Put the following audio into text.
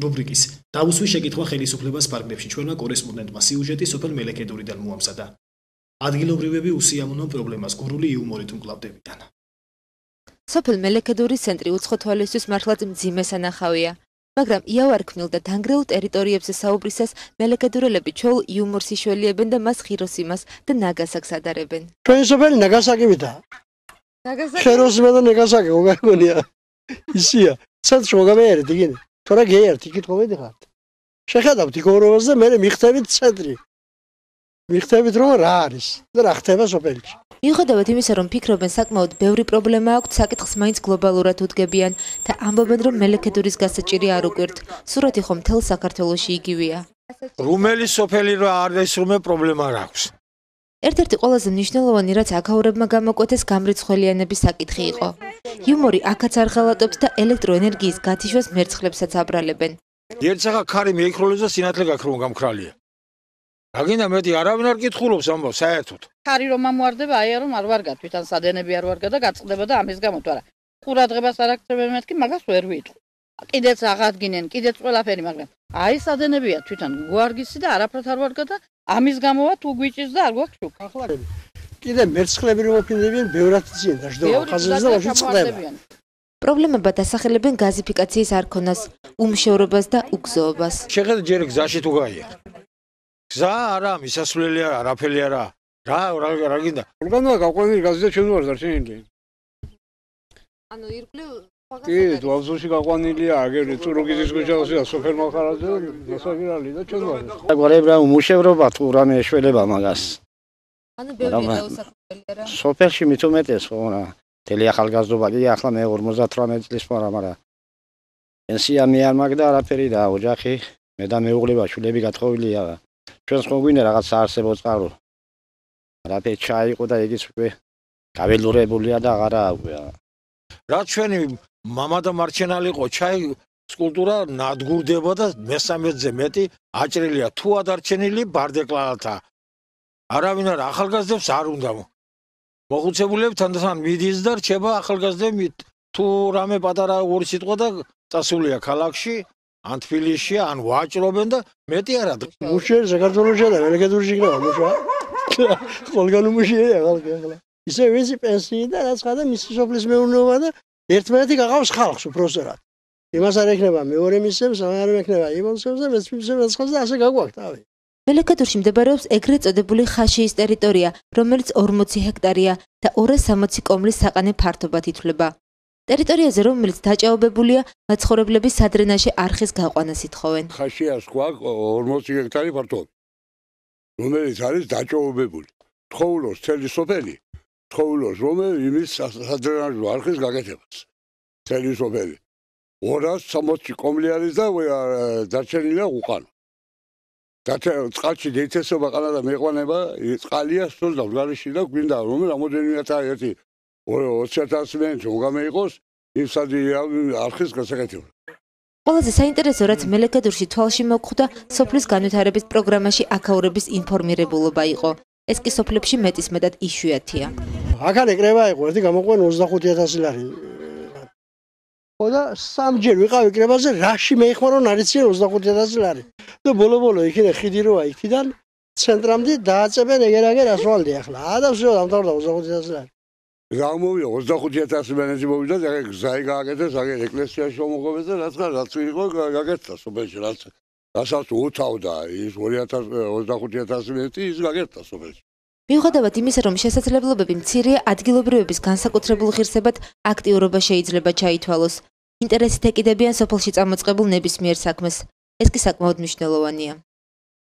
რუბრიკის „დავუსვი შეკითხვა ხელისუფლებას პარკებში“ ჩვენმა კორესპონდენტმა სიუჟეტი სოფელ მელექედურიდან მოამზადა. ადგილობრივები უსიამოვნო პრობლემას გურული იუმორით უმკლავდებიან. სოფელ მელექედურის ცენტრი უცხო თვალისთვის მართლაც მძიმე სანახავია. მაგრამ იავარქმილ და დანგრეულ ტერიტორიებზე საუბრისას მელექედურელები ჩვეულ იუმორს იშველიებენ და მას ხიროსიმას და ნაგასაკს ადარებენ. ჩვენი სოფელი ნაგასაკივითა. ხიროსიმა და ნაგასაკი მოგაგონია. ისია, ცენტრში მოგამეერეთ იგინე. თორე გეერთ იქით მოვედიხართ. შეხედავთ იქორობას და მე მიხდებით ცენტრი. მიხდებით რომ რა არის და რა ხდება სოფელში. მიუხედავად იმისა, რომ ფიქრობენ საკმაოდ ბევრი პრობლემა აქვთ, საკითხს მაინც გლობალურად უდგებიან და ამბობენ, რომ მელექედურის გასაჭირი არ უკვირთ. სურათი ხომ მთელ საქართველოში იგივეა. რომელი სოფელი რა არის, რომელი პრობლემა არ აქვს. ერთ-ერთი ყველაზე მნიშვნელოვანი, რაც აქაურებმა გამოკვეთეს, გამრიცხველიანების საკითხი იყო. იუმორი აქაც არ ღალატობს და ელექტროენერგიის გათიშვას მერცხლებსაც აბრალებენ. ერთ სახა ქარი მეიქროლებს და სინათლე გაქრომ გამქრალია. რაგინდა მეტი არავინ არ კითხულობს ამბავს საერთოდ. ქარი რომ ამوارდება, აი რომ არ ვარგა, თვითონ სადენები არ ვარგა და გაწყდება და ამის გამო თუ არა. ყურადღებას არ აქცევენ მეთქი, მაგას ვერ ვიტყვი. კიდეც აღადგინენ, კიდეც ყველაფერი, მაგრამ აი სადენებია თვითონ გვარგისი და არაფრად არ ვარგა და ამის გამოვა თუ გვიჭირს და არ გვაქვს შუქ. ახლა კიდე მერცხლები რომ მოფინდებიან, ბევრად ძიან და ჟდობა ხაზზე და ვაში წყდება. პრობლემებად ასახელებენ გაზიფიკაციის არქონას, უმშევრობას და უგზოობას. შეხედე ჯერ გზაში თუ გაიარ. გზა არა, მისასვლელი არა, არაფერი არა. რა გინდა? ორგანოა გაყვანილი გაზი და ჩვენ ვარ დარჩენილი. ანუ ირგვლივ კი, დვალზოში გაყვანილია, აგერ წურუგიზის ქუჩაში, სოფელ მალხარაძე, დასაგირალი და ჩვენ ვარ. გვარებრა უმუშევრობა თუ რამე შველება მაგას. ანუ ბევრი დაუსახებელი არა. სოფელში მით უმეტეს ხო რა. თელი ახალგაზრდობა კი ახლა მე 58 წლის ვარ, მაგრამ პენსია მე არ მაგ და არაფერი და ოჯახი მე და მეუღლება შვილები გათხოვილია. ჩვენს ხო გვინდა რაღაც საარსებო წყარო. არაფერი ჩაიყო და იგიც უკვე გაველურებულია და აღარა აგვია. რა ჩვენი მამა და მარჩენალი ყო ჩაი სკულპტურა ნადგურდება და მესამედზე მეტი აჭრილია თუ ადარჩენილი ბარდეკლალთა. არავინ არ ახალგაზრდებს არ უნდა მოხუცებულები თანდათან მიდის და რჩება ახალგაზრდები თუ რამე პატარა ორი სიტყვა და წასულია ქალაქში ან თბილისში ან ვაჭრობენ და მეტი არა. მუშე საქართველოში და მელექედურში იქნება მუშა. ყველგან მუშია ხალხი ახლა. ისე ვიზი პენსიიდან აცხადა მისი სოფლის მეურნეობა და ერთმანეთი გაღავს ხალხს უბრალოდ. იმას არ ექნება მეორე მისებს, არ ექნება იმონსებს და მეცმისებს და ასე გაგვაქვს თავი. მელექედურში მდებარეობს ეგრეთ წოდებული ხაშიის ტერიტორია, რომელიც 40 ჰექტარია და 260 კომლის საყანე ფართობად ითვლება. ტერიტორიაზე, რომელიც დაჭაობებულია, მაცხოვრებლები სადრენაში არხის გაყვანას ითხოვენ. ხაშიას გვაქვს 40 ჰექტარი ფართობი, რომელიც არის დაჭაობებული. თხოვლოს თელი სოფელი, თხოვლოს რომელიც იმის სადრენაში არხის გაკეთებას. თელი სოფელი 260 კომლი არის და დარჩენილია უყანო. წყალში დეითესობა ყანა მეყვანება, წყალია სულ დავგარიში და გვინდა რომ რამოდენიმე ერთი 20,000 მენჩ მოგამეიყოს იმ სადი არხის გასაკეთებლად. ყველაზე საინტერესო რაც მელექედურში თვალში მოგხვდა, სოფლის განვითარების პროგრამაში აქაურების ინფორმირებულობა იყო. ეს კი სოფლებში მეტისმეტად იშვიათია. აქ ეკრება იყო ერთი გამოყვენ 25,000 ლარი. ხო და სამჯერ ვიყავი კრებაზე, რაში მეიხმარო რომ არიციან 25,000 ლარი. და ბოლო იქიდან ხიდი როა იქიდან ცენტრამდე დააწებენ ეგერ ასვალდი ახლა. და всё დამთავრდა 25,000 ლარი. გამოვიდა 25,000 მენეჯი მოვიდა და გზაი გააკეთეს, აგერ ეკლესიაში მომოღებეს და რაც იყო გაკეთდა სოფელში, რასაც უთავდა ის 25,000 მენეჯი ის გაკეთდა სოფელში. მიუხედავად იმისა, რომ შესაძლებლობები მცირეა, ადგილობრივების განსაკუთრებულ ღირსებად აქტიურობა შეიძლება ჩაითვალოს. ინტერესით ეკიდებიან სოფელში წამოწყებულ ნებისმიერ საქმეს. ეს კი საკმაოდ მნიშვნელოვანია.